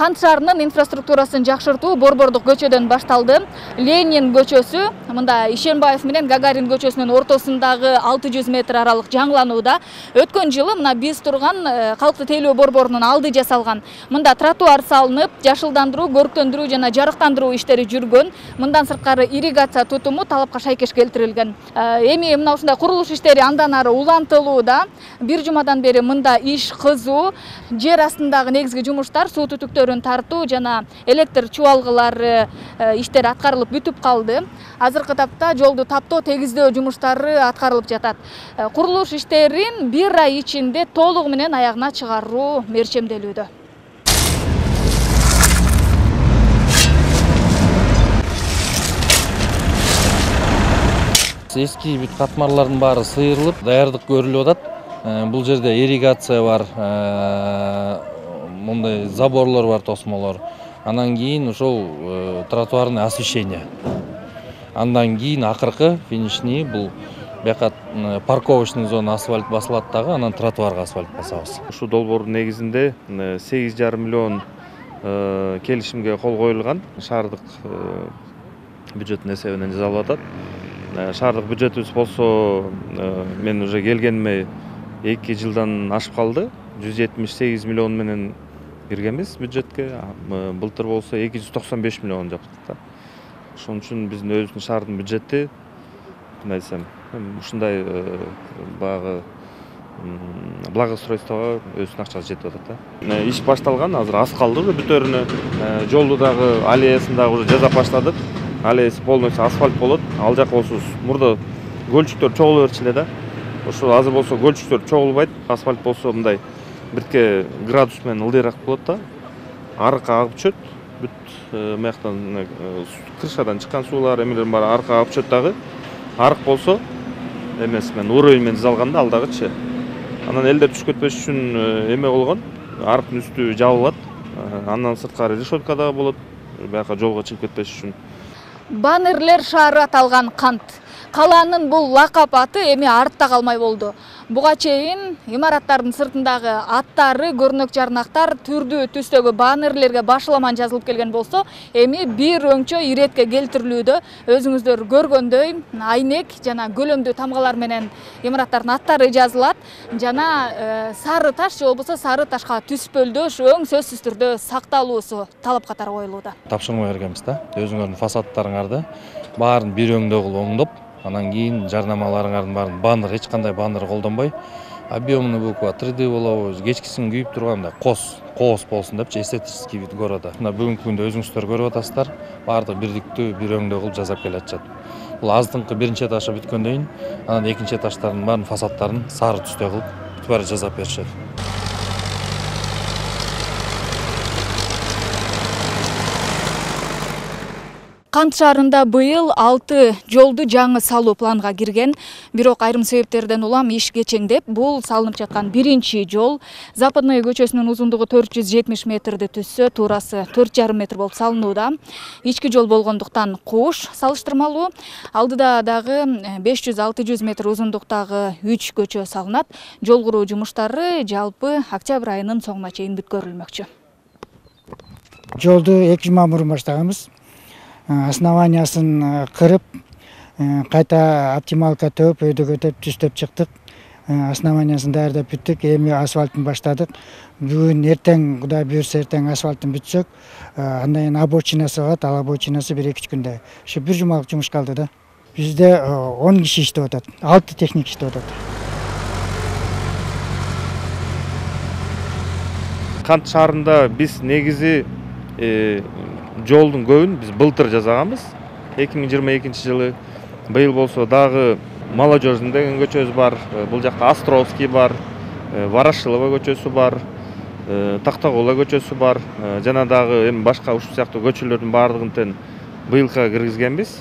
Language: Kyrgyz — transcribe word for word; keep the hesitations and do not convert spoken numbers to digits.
Кант шаарынын инфраструктурасын жакшыртуу Борбордук көчөдөн башталды. Ленин көчөсү, мында Ишенбаев менен Гагарин көчөсүнүн ортосундагы алты жүз метр аралык жаңыланууда. Өткөн жылы мына биз турган калктык тейлөө борборунун алды жасалган. Мында тротуар салынып, жашылдандыруу, көрктөндүрүү жана жарыктандыруу иштери жүргөн. Мындан сырткары ирригация тутуму талапка шайкеш келтирилген. Эми мына ушундай курулуш иштери андан ары улантылууда. Бир жумадан бери мында иш кызуу. Жер астындагы негизги жумуштар, суу түтүктөрүн тартуу жана электр чубалгылары иштери аткарылып бүтүп калды. Азыркы тапта жолду таптоо, тегиздөө жумуштары аткарылып жатат. Курулуш иштерин бир ай ичинде толугу менен аягына чыгаруу мерчемделүүдө. Эски бүт катмарлардын баары сыйрылып, даярдык көрүлүп атат. Бул жерде ирригация бар, мындай заборлор бар, тосмолор. Андан кийин ошол тротуарный освещение. Андан кийин акыркы финишний бул бияка парковочный зона асфальт басылат дагы, анан тротуарга асфальт басабыз. Ушул долбоордун негизинде сегиз жарым миллион келишимге кол коюлган. Шаардык бюджеттин эсебинен жасалып атат. Шаардык бюджетибиз болсо мен уже келгениме эки жылдан ашып калды. жүз жетимиш сегиз миллион менен киргенбиз бюджетке. Былтыр болсо эки жүз токсон беш миллион жаптык да. Ошон үчүн биздин өзүбүздүн шаардын бюджети, кандай десем, ушундай багы благоустройствого өзүнүн акчасы жетип атат да. Иш башталган, азыр аз калды уже бүтөрүнө. Жолду дагы аллеясын дагы уже жасап баштадык. Аллеясы полностью асфальт болот. Ал жак болсо мурда көлчүктөр чогулуп берчү эле да. Ошо азыр болсо көлчүктөр чогулбайт. Асфальт болсо мындай бирке градус менен ылдыйраак болот да. Арыкка агып түшөт. Бүт мыяктан крышадан чыккан суулар, эмелер баары арыкка агып түшөт дагы. Арык болсо эмес менен уровень менен жасалганда ал дагычы. Анан элдер түшүп кетпеш үчүн эме болгон. Арыктын үстү жабылат. Андан сырткары решетка дагы болот. Бияка жолго чыгып кетпеш үчүн. Баннерлер шаары аталган Кант. Калаанын бул лакап аты эми артта калмай болду. Буга чейин имараттардын сыртындагы аттары, көрнөк жарнактар түрдүү түстөгү баннерлерге башыламан жазылып келген болсо, эми бир өңчө иретке келтирилүүдө. Өзүңүздөр көргөндөй, айнек жана көлөмдүү тамгалар менен имараттардын аттары жазылат. Жана сары таш же болбосо сары ташка түспөлдөш өң сөзсүз түрдө сакталуусу талап катары коюлууда. Тапшырма бергенбиз да. Өзүңөрдүн фасадтарыңарды баарын бир өңдө кылып оңдоп, анан кийин жарнамаларыңардын баарын баннер, эч кандай баннер колдонбой, объемный буква, три дэ болобу, кечкисин күйүп тургандай кос, коос болсун депчи, эстетический вид города. Мына бүгүнкү күндө өзүңүздөр көрүп атасыздар, баардык бирдиктүү бир өңдө кылып жасап келатышат. Бул аздыңкы биринчи этажга бүткөндөн кийин, анан экинчи этаждардын баарын фасадтарын сары түстө кылып, бүт баары жасап беришет. Кант шаарында быйыл алты жолду жаңы салуу планга кирген, бирок айрым себептерден улам иш кечеңдеп, бул салынып жаткан биринчи жол Западный көчөсүнүн узундугу төрт жүз жетимиш метрди түзсө, туурасы төрт жарым метр болуп салынууда. Ички жол болгондуктан куш салыштырмалуу. Алдыда дагы беш жүз алты жүз метр узундуктагы үч көчө салынат. Жол куруу жумуштары жалпы октябрь айынын соңуна чейин бүткөрүлмөкчү. Жолду эки жума мурун баштаганбыз. Основаниясын кырып, кайта оптималка төп, өйдөгөтөп, түстөп чыктык. Основаниясын даярдап бүттүк, эми асфальтын баштадык. Бүгүн эртең, Кудай буйрса эртең асфальтын бүтсөк, андан кийин обочинасы калат, ал обочинасы бир эки үч күндө. Ушу бир жумалык жумуш калды да. Бизде он киши иштеп атат, алты техник иштеп атат. Кант шаарында биз негизи жолдун көбүн биз былтыр жасаганбыз. эки миң жыйырма экинчи жылы. Быйыл болсо дагы Молодежный деген көчөбүз бар. Бул жакта Островский бар, Ворошилова көчөсү бар, Тактагула көчөсү бар. Жана дагы эми башка ушул сыяктуу көчөлөрдүн баардыгын тең быйылга киргизгенбиз.